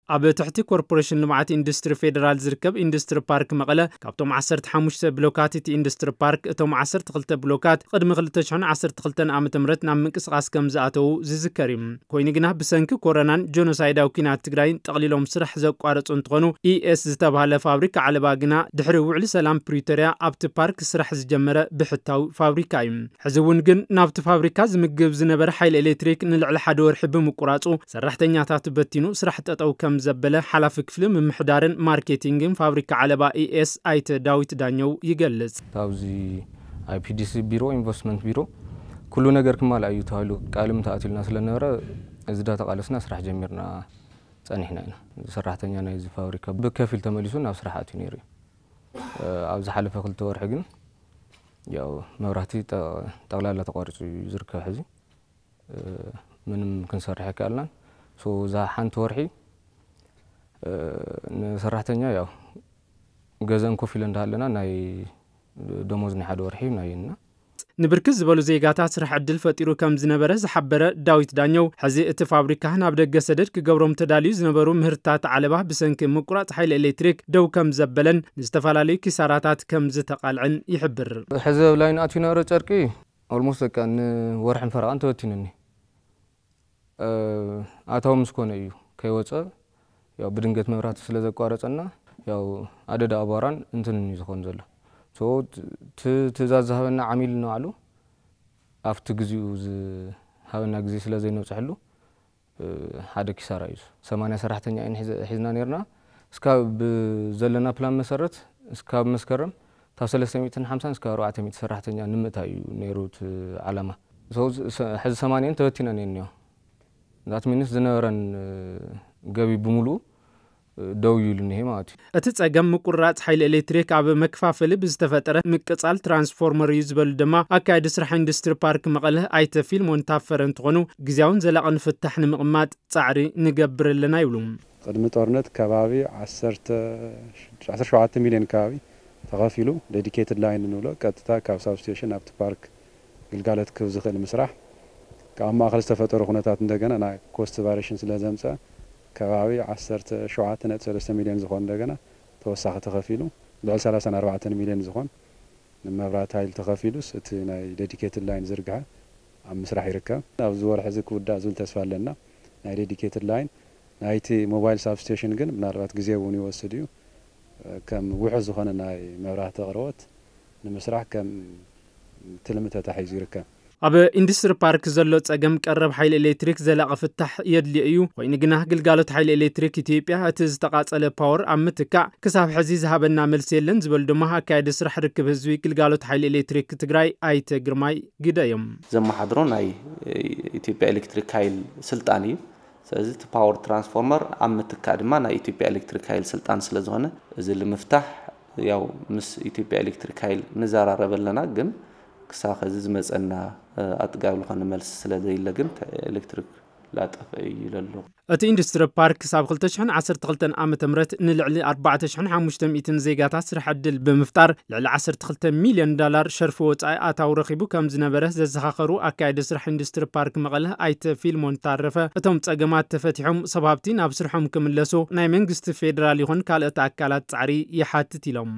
ኣብ ትሕቲ ኮርፖሬሽን ልምዓት ኢንዱስትሪ ፌደራል ዝርከብ ኢንዱስትሪ ፓርክ መቐለ፣ ካብቶም ዓሰርተ ሓሙሽተ ብሎካት እቲ ኢንዱስትሪ ፓርክ፣ እቶም ዓሰርተ ክልተ ብሎካት ቅድሚ ክልተ ሽሕን ዓሰርተ ክልተን ዓመተ ምህረት ናብ ምንቅስቓስ ከም ዝኣተዉ ዝዝከር እዩ። ኮይኑ ግና፣ ብሰንኪ ኮሮናን ጆኖሳይዳዊ ኲናት ትግራይን ጠቕሊሎም ስራሕ ዘቋረጹ እንትኾኑ፣ ኢኤስ ዝተባህለ ፋብሪካ ዓለባ ግና ድሕሪ ውዕሊ ሰላም ፕሪቶርያ ኣብቲ ፓርክ ስራሕ ዝጀመረ ብሕታዊ ፋብሪካ እዩ። ሕዚ እውን ግን ናብቲ ፋብሪካ ዝምግብ ዝነበረ ሓይሊ ኤሌክትሪክ ንልዕሊ ሓደ ወርሒ ብምቁራጹ፣ ሰራሕተኛታት በቲኑ ስራሕ ጠጠው ከም ዘበለ ሓላፊ ክፍሊ ምምሕዳርን ማርኬቲንግን ፋብሪካ ዓለባ ኢኤስ ኣይተ ዳዊት ዳኘው ይገልጽ። ኣብዚ ኣይፒዲሲ ቢሮ፣ ኢንቨስትመንት ቢሮ፣ ኩሉ ነገር ክማልእ እዩ ተባሂሉ ቃልም ተኣትዩልና ስለነበረ፣ እዚ ዳተቃለስና ስራሕ ጀሚርና ጸኒሕና ኢና። ሰራሕተኛ ናይዚ ፋብሪካ ብከፊል ተመሊሱ ናብ ስራሕ ኣትዩ ነይሩ እዩ። እ፣ ኣብ ዝሓለፈ ክልተ ወርሒ ግን ያው መብራህቲ ጠ-፣ ጠቕላላ ተቋሪጹ እዩ ዝርከብ ሕዚ። እ፣ ምንም ክንሰርሕ ኣይከኣልናን። ሶ፣ እዛ ሓንቲ ወርሒ፣ እ፣ ንሰራሕተኛ ያው ገዘን ኮፍ ኢለ እንዳሃለና ናይ ደሞዝ ናይ ሓደ ወርሒ ናይ እና ንብርክት ዝበሉ ዜጋታት ስራሕ ዕድል ፈጢሩ ከም ዝነበረ ዝሓበረ ዳዊት ዳኘው፣ ሕዚ እቲ ፋብሪካ ናብ ደገ ሰደድ ክገብሮም ተዳልዩ ዝነበሩ ምህርትታት ዓለባ ብሰንኪ ምቁራጽ ሓይሊ ኤሌክትሪክ ደው ከም ዘበለን ንዝተፈላለዩ ኪሳራታት ከም ዝተቓልዐን ይሕብር። ሕዚ ኣብ ላይን ኣትዩ ነበረ ጨርቂ ኦልሞስት በቃ ንወርሕን ፈረቓን ተበቲኑኒ። እ፣ ኣታዊ ምስ ኮነ እዩ ከይወፀ፣ ያው ብድንገት መብራህቲ ስለ ዘቋረፀና፣ ያው ኣደዳ ኣቧራን እንትንን እዩ ዝኾን ዘሎ። ሶ፣ ት-፣ ት-፣ ትእዛዝ ዝሃበና ዓሚል ንባዕሉ ኣብቲ ግዜኡ ዝሃበና ግዜ ስለ ዘይነብፅሐሉ፣ እ፣ ሓደ ኪሳራ እዩ። ሰማንያ ሰራሕተኛ ኢና ሒዘ-፣ ሒዝና ነይርና። እስካብ ብዘለና ፕላን መሰረት፣ እስካብ መስከረም ካብ ሰለስተ ሚእትን ሓምሳን እስካብ ኣርባዕተ ሚእቲ ሰራሕተኛ ንምእታይ እዩ ነይሩ እቲ ዓላማ። ሶ፣ ዝ-፣ ሰ-፣ ሕዚ ሰማንያን ተበቲነን እየን እኒኦ። ዛት ሚንስ ዝነበረን፣ እ፣ ገቢ ብምሉኡ፣ እ፣ ደው ኢሉ እኒሄ ማለት እዩ። እቲ ጸገም ምቁርራጽ ሓይሊ ኤሌክትሪክ ኣብ መከፋፈሊ ብዝተፈጠረ ምቅጻል ትራንስፎርመር እዩ ዝበሉ ድማ ኣካያዲ ስራሕ ኢንዱስትሪ ፓርክ መቐለ ኣይተ ፊልሞን ታፈረ እንትኾኑ፣ ግዜያውን ዘላቕን ፍታሕ ንምቕማጥ ጻዕሪ ንገብር ኣለና ይብሉ። ቅድሚ ጦርነት ከባቢ ዓሰርተ፣ ዓሰርተ ሸውዓተ ሚልዮን ከባቢ ተኸፊሉ፣ ዴዲኬትድ ላይን ንብሎ፣ ቀጥታ ካብ ሳብስቴሽን ኣብቲ ፓርክ ግልጋሎት ክህብ ዝኽእል ምስራሕ፣ ካብ ማእኸል ዝተፈጠሩ ኩነታት እንደገና ናይ ኮስት ቫሪሽን ስለ ዘምፀ፣ ከባቢ ዓሰርተ ሸውዓተ ነጥቢ ሰለስተ ሚልዮን ዝኾን እንደገና ተወሳኺ ተኸፊሉ፣ ልዕሊ ሰላሳን ኣርባዕተን ሚልዮን ዝኾን ንመብራት ሃይል ተኸፊሉስ፣ እቲ ናይ ዴዲኬትድ ላይን ዝርግሐ ኣብ ምስራሕ ይርከብ። ኣብዚ ወርሒ እዚ ክውዳእ ዝብል ተስፋ ኣለና። ናይ ዴዲኬትድ ላይን ናይቲ ሞባይል ሳብስቴሽን ግን ምናልባት ግዜ እውን ይወስድ እዩ። ከም ውሑስ ዝኾነ ናይ መብራህቲ ኣቕርቦት ንምስራሕ ከም ትልሚ ተታሒዙ ይርከብ። ኣብ ኢንዱስትሪ ፓርክ ዘሎ ጸገም ቀረብ ሓይሊ ኤሌክትሪክ ዘላቒ ፍታሕ የድልዮ እዩ። ኮይኑ ግና፣ ግልጋሎት ሓይሊ ኤሌክትሪክ ኢትዮጵያ እቲ ዝተቓጸለ ፓወር ኣብ ምትካእ ክሳብ ሕዚ ዝሃበና መልሲ የለን ዝበሉ ድማ ኣካያዲ ስራሕ ርክብ ህዝቢ ግልጋሎት ሓይሊ ኤሌክትሪክ ትግራይ ኣይተ ግርማይ ግደ እዮም። ዘመሓድሮ ናይ ኢትዮጵያ ኤሌክትሪክ ሃይል ስልጣን እዩ። ስለዚ እቲ ፓወር ትራንስፎርመር ኣብ ምትካእ ድማ ናይ ኢትዮጵያ ኤሌክትሪክ ሃይል ስልጣን ስለ ዝኾነ፣ እዚ ንምፍታሕ ያው ምስ ኢትዮጵያ ኤሌክትሪክ ሃይል ንዘራረብ ኣለና፣ ግን ክሳብ ኸዚ ዝመጸና፣ እ፣ ኣጥጋቢ ዝኾነ መልሲ ስለ ዘየለ ግን ተ-፣ ኤሌክትሪክ ላጠፈ እዩ ይለሎ። እቲ ኢንዱስትሪ ፓርክ ክሳብ ክልተ ሽሕን ዓሰርተ ክልተን ዓመተ ምህረት ንልዕሊ ኣርባዕተ ሽሕን ሓሙሽተ ሚእትን ዜጋታት ስራሕ ዕድል ብምፍጣር፣ ልዕሊ ዓሰርተ ክልተ ሚልዮን ዳላር ሸርፊ ወጻኢ ኣታዊ ረኺቡ ከም ዝነበረ ዘዘኻኸሩ ኣካያዲ ስራሕ ኢንዱስትሪ ፓርክ መቐለ ኣይተ ፊልሞን ታረፈ፣ እቶም ጸገማት ተፈቲሖም ሰብ ሃብቲ ናብ ስርሖም ክምለሱ ናይ መንግስቲ ፌዴራል ይኹን ካልኦት ኣካላት ጻዕሪ ይሓትት ኢሎም።